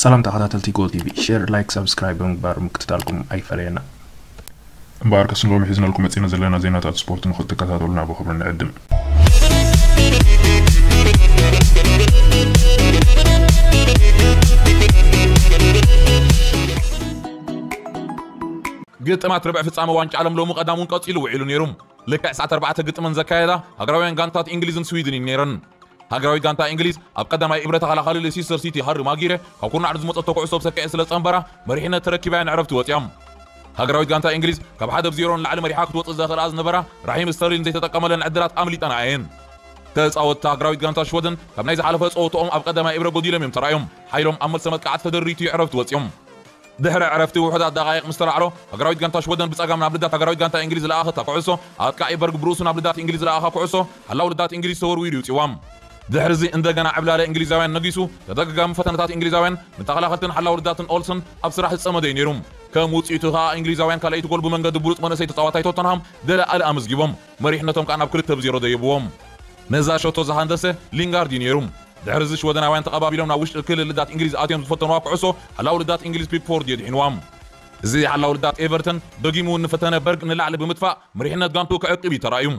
ሰላም ተኸታተልቲ ጎል ቲቪ፣ ሼር፣ ላይክ፣ ሰብስክራይብ ብምግባር ምክትታልኩም ኣይፈለየና። እምበኣርከስ ንሎሚ ሒዝናልኩም መጺና ዘለና ዜናታት ስፖርት ንኽትከታተሉና ብኽብሪ ንዕድም። ግጥማት ርብዕ ፍጻመ ዋንጫ ዓለም ሎሚ ቀዳም እውን ቀጺሉ ውዒሉ ነይሩ። ልክዕ ሰዓት ኣርባዕተ ግጥመን ዘካየዳ ሃገራውያን ጋንታት እንግሊዝን ስዊድንን ነይረን። ሃገራዊት ጋንታ እንግሊዝ ኣብ ቀዳማይ እብረ ተኸላኻሊ ሌሲስተር ሲቲ ሃሪ ማጊረ ካብ ኩርናዕ ዝመጸቶ ኩዕሶ ብሰኪዐ ስለ ጸንበራ መሪሕነት ተረኪባ እያ ንዕረፍቲ ወጺኦም። ሃገራዊት ጋንታ እንግሊዝ ካብ ሓደ ብ ዜሮ ንላዕሊ መሪሓ ክትወጽእ ዘኽእላ ዝነበራ ራሂም ስተርሊን ዘይተጠቀመለን ዕድላት ኣምሊጠና እየን። ተጻወትቲ ሃገራዊት ጋንታ ሽወደን ካብ ናይ ዝሓለፈ ጸወትኦም ኣብ ቀዳማይ እብረ ጎዲሎም እዮም ተራእዮም። ሓይሎም ኣብ መልሰ መጥቃዕቲ ተደሪቱ እዩ ዕረፍቲ ወጺኦም። ድሕሪ ዕረፍቲ ውሑዳት ደቓይቕ ምስ ተላዕሎ ሃገራዊት ጋንታ ሽወደን ብጸጋም ናብ ልዳት ሃገራዊት ጋንታ እንግሊዝ ዝለኣኸታ ኩዕሶ ኣጥቃዒ በርግ ብሩሱ ናብ ልዳት እንግሊዝ ዝለኣኻ ኩዕሶ ሓላው ልዳት እንግሊዝ ተወርዊሩ ይውጽዋም። ድሕርዚ እንደገና ዕብላለ እንግሊዛውያን ነጊሱ ተደጋጋሚ ፈተነታት እንግሊዛውያን ንተኸላኸልትን ሓላው ልዳትን ኦልሰን ኣብ ስራሕ ዝጸመደ እዩ ነይሩ። ከም ውጽኢቱ ከኣ እንግሊዛውያን ካልኣይቲ ጎል ብመንገዲ ብሉጽ መንእሰይ ተጻዋታይ ቶተንሃም ደለ ኣሊ ኣመዝጊቦም መሪሕነቶም ከኣ ናብ ክልተ ብ ዜሮ ደየብዎም። ነዛ ሸቶ ዝሃንደሰ ሊንጋርድ እዩ ነይሩ። ድሕሪ እዚ ሽወደናውያን ተቐባቢሎም ናብ ውሽጢ ክልል ልዳት እንግሊዝ ኣትዮም ዝፈተንዋ ኩዕሶ ሓላው ልዳት እንግሊዝ ፒክፎርድ የድሒንዋ። እዚ ሓላው ልዳት ኤቨርተን ደጊሙ እውን ንፈተነ በርግ ንላዕሊ ብምጥፋእ መሪሕነት ጋንቱ ክዕቅብ እዩ ተራእዩ።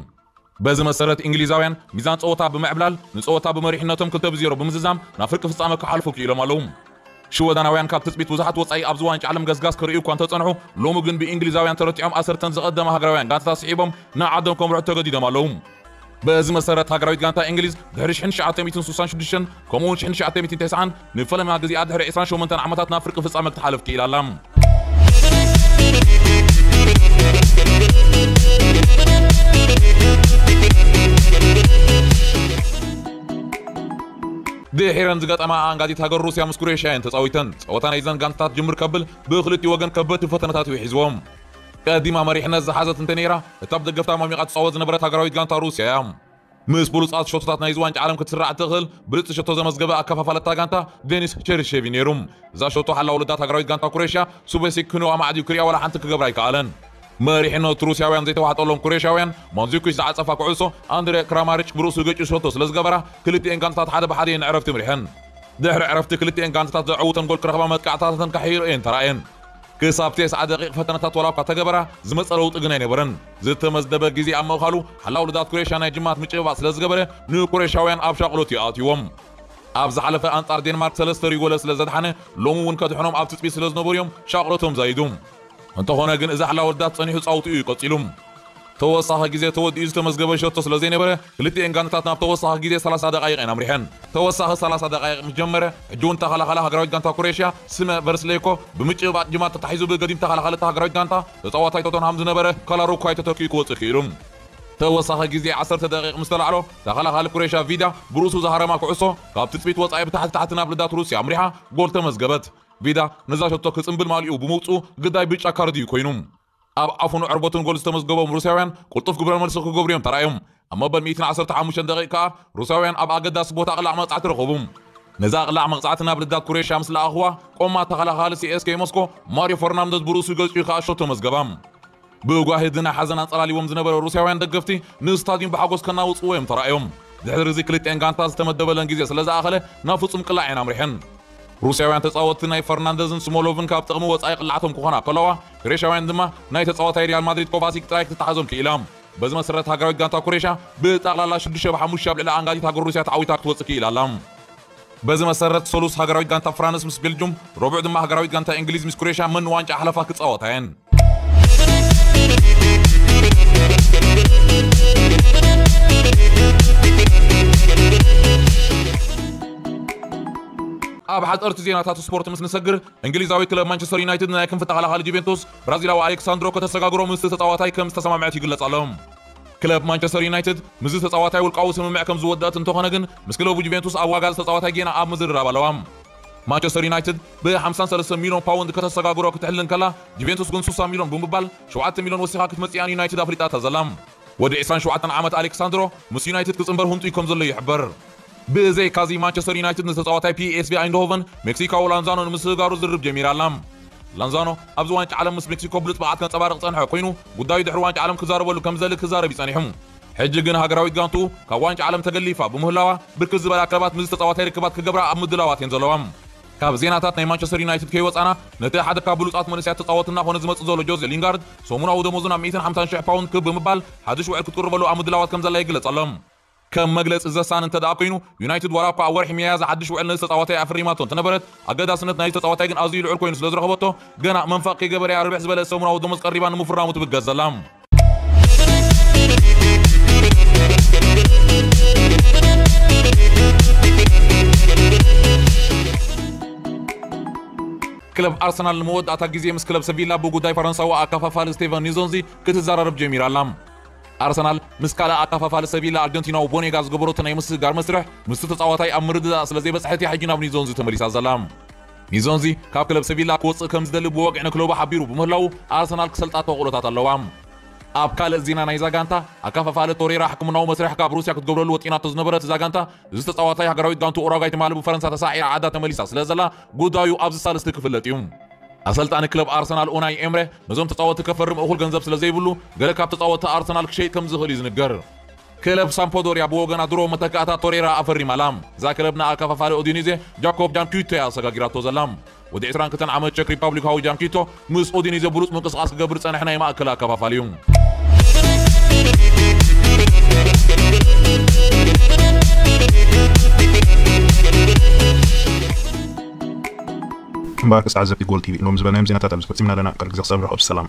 በዚ መሰረት እንግሊዛውያን ሚዛን ጸወታ ብምዕብላል ንጸወታ ብመሪሕነቶም ክልተ ብ ዜሮ ብምዝዛም ናብ ፍርቂ ፍጻመ ክሓልፉ ክኢሎም ኣለዉ። ሽወደናውያን ካብ ትጽቢት ብዙሓት ወጻኢ ኣብዚ ዋንጫ ዓለም ገስጋስ ክርእዩ እኳ እንተጸንሑ ሎሚ ግን ብእንግሊዛውያን ተረቲዖም ኣሰርተን ዝቐደማ ሃገራውያን ጋንታታት ስሒቦም ንዓዶም ከምርሑ ተገዲዶም ኣለዉ። በዚ መሰረት ሃገራዊት ጋንታ እንግሊዝ ድሕሪ ሽሕን ትሽዓተ ሚእትን ስሳን ሽዱሽተን ከምኡውን ሽሕን ትሽዓተ ሚእትን ተስዓን ንፈለማ ግዜኣ ድሕሪ ዕስራን ሸሞንተን ዓመታት ናብ ፍርቂ ፍጻመ ክትሓልፍ ክኢላ ኣላ። ድሒረን ዝገጠማ ኣንጋዲት ሃገር ሩስያ ምስ ኩሬሽያ እየን ተጻዊተን። ጸወታ ናይዘን ጋንታታት ጅምር ከብል ብክልቲኡ ወገን ከበድቲ ፈተነታት እዩ ሒዝዎም። ቀዲማ መሪሕነት ዝሓዘት እንተ ነይራ እታ ብደገፍታ ማሚቓ ትጻወት ዝነበረት ሃገራዊት ጋንታ ሩስያ እያ። ምስ ብሉጻት ሸቶታት ናይዚ ዋንጫ ዓለም ክትስራዕ እትኽእል ብልጽቲ ሸቶ ዘመዝገበ ኣከፋፋለታ ጋንታ ዴኒስ ቸርሼቭ እዩ ነይሩ። እዛ ሸቶ ሓላ ወለዳት ሃገራዊት ጋንታ ኩሬሽያ ሱበሲክ ክንኡ ኣማዕድዩ ክሪኣ ዋላ ሓንቲ ክገብራ ኣይከኣለን። መሪሕነት ሩስያውያን ዘይተዋሕጠሎም ኩሬሽያውያን ማንዙኪች ዝዓጸፋ ኩዕሶ ኣንድሬ ክራማሪች ብርእሱ ገጭ ሸቶ ስለ ዝገበራ ክልቲኤን ጋንታታት ሓደ ብሓደ እየን ዕረፍቲ ምሪሐን። ድሕሪ ዕረፍቲ ክልቲኤን ጋንታታት ዘዕውተን ጎል ክረኽባ መጥቃዕታተን ከሕይሮ እየን ተራእየን። ክሳብ ተስዓ ደቂቕ ፈተነታት ዋላ እኳ ተገበራ ዝመጸ ለውጢ ግን ኣይነበረን። ዝተመዝደበ ግዜ ኣብ ምእኻሉ ሓላው ልዳት ኩሬሽያ ናይ ጅማት ምጭብባጥ ስለ ዝገበረ ንኩሬሽያውያን ኣብ ሻቕሎት ይኣትዎም። ኣብ ዝሓለፈ ኣንጻር ዴንማርክ ሰለስተ ሪጎለ ስለ ዘድሓነ ሎሚ እውን ከድሕኖም ኣብ ትጽቢት ስለ ዝነበሩ እዮም ሻቕሎቶም ዛይዱ። እንተኾነ ግን እዚ ሓላው ልዳት ጸኒሑ ጻውትኡ እዩ ቀጺሉ። ተወሳኺ ግዜ ተወዲኡ ዝተመዝገበ ሸቶ ስለ ዘይነበረ ክልቲኤን ጋንታታት ናብ ተወሳኺ ግዜ ሰላሳ ደቓይቕ እየን ኣምሪሐን። ተወሳኺ ሰላሳ ደቓይቕ ምስ ጀመረ ሕጂ እውን ተኸላኻሊ ሃገራዊት ጋንታ ኩሬሽያ ስመ ቨርስሌኮ ብምጭብባጥ ጅማት ተታሒዙ ብገዲም ተኸላኻሊ እታ ሃገራዊት ጋንታ ተጻዋታይ ቶተንሃም ዝነበረ ካላሩኳይ ተተኪኡ ክወጽእ ክኢሉ። ተወሳኺ ግዜ ዓሰርተ ደቂቕ ምስ ተላዕሎ ተኸላኻሊ ኩሬሽያ ቪዳ ብርእሱ ዝሃረማ ኩዕሶ ካብ ትጽቢት ወጻኢ ብታሕቲ ታሕቲ ናብ ልዳት ሩስያ ኣምሪሓ ጎል ተመዝገበት። ቪዳ ነዛ ሸቶ ክጽምብል ማልኡ ብምውጽኡ ግዳይ ብጫ ካርድ እዩ ኮይኑ። ኣብ ኣፉን ዕርበቱን ጎል ዝተመዝገቦም ሩስያውያን ቅልጡፍ ግብረ መልሲ ክገብሩ እዮም ተራእዮም። ኣብ መበል ሚእትን ዓሰርተ ሓሙሽተን ደቂቕ ከኣ ሩስያውያን ኣብ ኣገዳሲ ቦታ ቅላዕ መቕጻዕቲ ረኸቡ። ነዛ ቅላዕ መቕጻዕቲ ናብ ልዳት ኩሬሽያ ምስ ለኣኽዋ ቆማ ተኸላኻሊ ሲኤስኬ ሞስኮ ማሪዮ ፈርናንደዝ ብርእሱ ገጺኡ ከኣ ሸቶ መዝገባ። ብጓሂ ድና ሓዘን ኣንጸላሊዎም ዝነበረ ሩስያውያን ደገፍቲ ንስታድዩም ብሓጎስ ከናውጽዎ እዮም ተራእዮም። ድሕሪ እዚ ክልቲኤን ጋንታ ዝተመደበለን ግዜ ስለ ዝኣኸለ ናብ ፍጹም ቅላዕ እየን ኣምሪሐን። ሩስያውያን ተጻወትቲ ናይ ፈርናንደዝን ስሞሎቭን ካብ ጥቕሚ ወጻኢ ቅላዕቶም ክኾና ከለዋ፣ ግሪሻውያን ድማ ናይ ተጻዋታይ ሪያል ማድሪድ ኮቫሲክ ጥራይ ክትተሓዞም ክኢላ። በዚ መሰረት ሃገራዊት ጋንታ ኩሬሽያ ብጠቕላላ ሽዱሽተ ብ ሓሙሽተ ኣብ ልዕሊ ኣንጋዲት ሃገር ሩስያ ተዓዊታ ክትወጽእ ክኢላ ኣላ። በዚ መሰረት ሰሉስ ሃገራዊት ጋንታ ፍራንስ ምስ ቤልጁም፣ ረቡዕ ድማ ሃገራዊት ጋንታ እንግሊዝ ምስ ኩሬሽያ መን ዋንጫ ሓለፋ ክጻወታ እየን። ኣብ ሓፀርቲ ዜናታት ስፖርት ምስ ንሰግር፣ እንግሊዛዊ ክለብ ማንቸስተር ዩናይትድ ናይ ክንፊ ተኸላኻሊ ጁቬንቱስ ብራዚላዊ ኣሌክሳንድሮ ከተሰጋግሮ ምስቲ ተፃዋታይ ከም ዝተሰማምዐት ይግለጽ ኣሎ። ክለብ ማንቸስተር ዩናይትድ ምስዚ ተፃዋታይ ውልቃዊ ስምምዕ ከም ዝወደአት እንተኾነ ግን፣ ምስ ክለቡ ጁቬንቱስ ኣብ ዋጋ ተፃዋታይ ጌና ኣብ ምዝርራብ ኣለዋ። ማንቸስተር ዩናይትድ ብ ሓምሳን ሰለስተን ሚልዮን ፓውንድ ከተሰጋግሮ ክትሕልን ከላ፣ ጁቬንቱስ ግን ስሳ ሚልዮን ብምባል ሸውዓተ ሚልዮን ወሲኻ ክትመጽእ እያ ንዩናይትድ ኣፍሊጣታ ዘላ። ወዲ ዕስራን ሸውዓተን ዓመት ኣሌክሳንድሮ ምስ ዩናይትድ ክጽንበር ህንጡይ ከም ዘሎ ይሕበር። ብዘይካዚ ማንቸስተር ዩናይትድ ንተጻዋታይ ፒኤስቪ ኣይንድሆቨን ሜክሲካዊ ላንዛኖ ንምስግጋሩ ዝርርብ ጀሚራ ኣላ። ላንዛኖ ኣብዚ ዋንጫ ዓለም ምስ ሜክሲኮ ብሉጽ ብቕዓት ከንጸባርቕ ዝጸንሐ ኮይኑ፣ ጉዳዩ ድሕሪ ዋንጫ ዓለም ክዛረበሉ ከም ዝደሊ ክዛረብ እዩ ጸኒሑ። ሕጂ ግን ሃገራዊት ጋንቱ ካብ ዋንጫ ዓለም ተገሊፋ ብምህላዋ፣ ብርክት ዝበላ ክለባት ምስዚ ተጻዋታይ ርክባት ክገብራ ኣብ ምድላዋት እየን ዘለዋ። ካብ ዜናታት ናይ ማንቸስተር ዩናይትድ ከይወጻና፣ ነቲ ሓደ ካብ ብሉጻት መንእሰያት ተጻወትና ኮነ ዝመጽእ ዘሎ ጆዜ ሊንጋርድ፣ ሰሙናዊ ደሞዙ ናብ ሚእትን ሓምሳን ሽሕ ፓውንድ ክብ ብምባል፣ ሓድሽ ውዕል ክትቅርበሉ ኣብ ምድላዋት ከም ዘላ ይግለጽ ኣሎ። ከም መግለጺ ዘሳን እንተ ደኣ ኮይኑ፣ ዩናይትድ ዋላ እኳ ኣብ ወርሒ ሚያዝያ ሓድሽ ውዕል ነዚ ተጻዋታይ ኣፈሪማቶ እንተነበረት፣ ኣገዳስነት ናይቲ ተጻዋታይ ግን ኣዝዩ ልዑል ኮይኑ ስለ ዝረኸበቶ፣ ገና መንፋቕ ከይገበረ እያ ርብሕ ዝበለ ሰሙናዊ ደሞዝ ቀሪባ ንምፍራሙ ትብገስ ዘላ። ክለብ ኣርሰናል ንመወዳእታ ግዜ ምስ ክለብ ሰቪላ ብጉዳይ ፈረንሳዊ ኣካፋፋሊ ስቴቨን ኒዞንዚ ክትዘራረብ ጀሚራ ኣላ። ኣርሰናል ምስ ካልእ ኣካፋፋሊ ሰቪላ ኣርጀንቲናዊ ቦኔጋ ዝገበረቶ ናይ ምስግጋር መስርሕ ምስቲ ተጻዋታይ ኣብ ምርድዳእ ስለ ዘይበጽሐት እያ ሕጂ ናብ ኒዞንዚ ተመሊሳ ዘላ። ኒዞንዚ ካብ ክለብ ሰቪላ ክወጽእ ከም ዝደሊ ብወግዒ ንክለቡ ሓቢሩ ብምህላዉ ኣርሰናል ክሰልጣ ተኽእሎታት ኣለዋ። ኣብ ካልእ ዜና ናይዛ ጋንታ፣ ኣካፋፋሊ ቶሬራ ሕክምናዊ መስርሕ ካብ ሩስያ ክትገብረሉ ወጢናቶ ዝነበረት እዛ ጋንታ፣ እዚ ተጻዋታይ ሃገራዊት ጋንቱ ኡራጓይ ትማሊ ብፈረንሳ ተሳዒራ ዓዳ ተመሊሳ ስለ ዘላ ጉዳዩ ኣብዚ ሳልስቲ ክፍለጥ እዩ። ኣሰልጣኒ ክለብ ኣርሰናል ኡናይ ኤምረ ነዞም ተጻወትቲ ከፈርም እኹል ገንዘብ ስለ ዘይብሉ፣ ገለ ካብ ተጻወትቲ ኣርሰናል ክሸይጥ ከም ዝኽእል እዩ ዝንገር። ክለብ ሳምፖዶርያ ብወገና ድሮ መተካእታ ቶሬራ ኣፈሪማ ኣላ። እዛ ክለብ ንኣከፋፋሊ ኦዲኒዜ ጃኮብ ጃንኪቶ እያ ኣሰጋጊራቶ ዘላ። ወዲ ዕስራን ክልተን ዓመት ቸክ ሪፓብሊካዊ ጃንኪቶ ምስ ኦዲኒዜ ብሉጽ ምንቅስቓስ ክገብር ጸንሐ ናይ ማእከል ኣከፋፋሊ እዩ። እምበኣር ክሳዕ ዘፊ ጎል ቲቪ ሎም ዝበልናዮም ዜናታት ኣብዚ ፈጺምና ኣለና። ቀሪ ግዜ ክሳብ ንራኸብ ሰላም።